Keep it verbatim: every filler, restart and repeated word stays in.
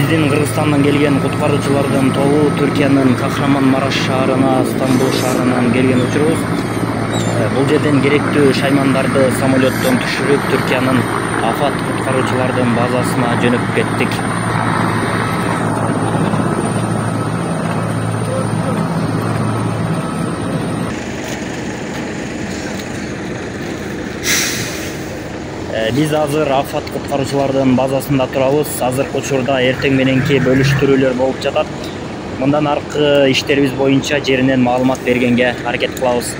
Биздин Кыргызстандан келген куткаруучулардын тобу Түркиянын Кахраманмараш шаарына Стамбул шаарынан келген учурубуз. Бул жерден керектүү шаймандарды самолеттон түшүрүп Түркиянын афат куткаруучулардын базасына жөнөп кеттик. Биз азыр афат куткаруучулардын базасында турабыз. Азыркы учурда эртең мененки бөлүштүрүүлөр болуп жатат. Мындан аркы иштерибиз боюнча жеринен маалымат бергенге аракет кылабыз.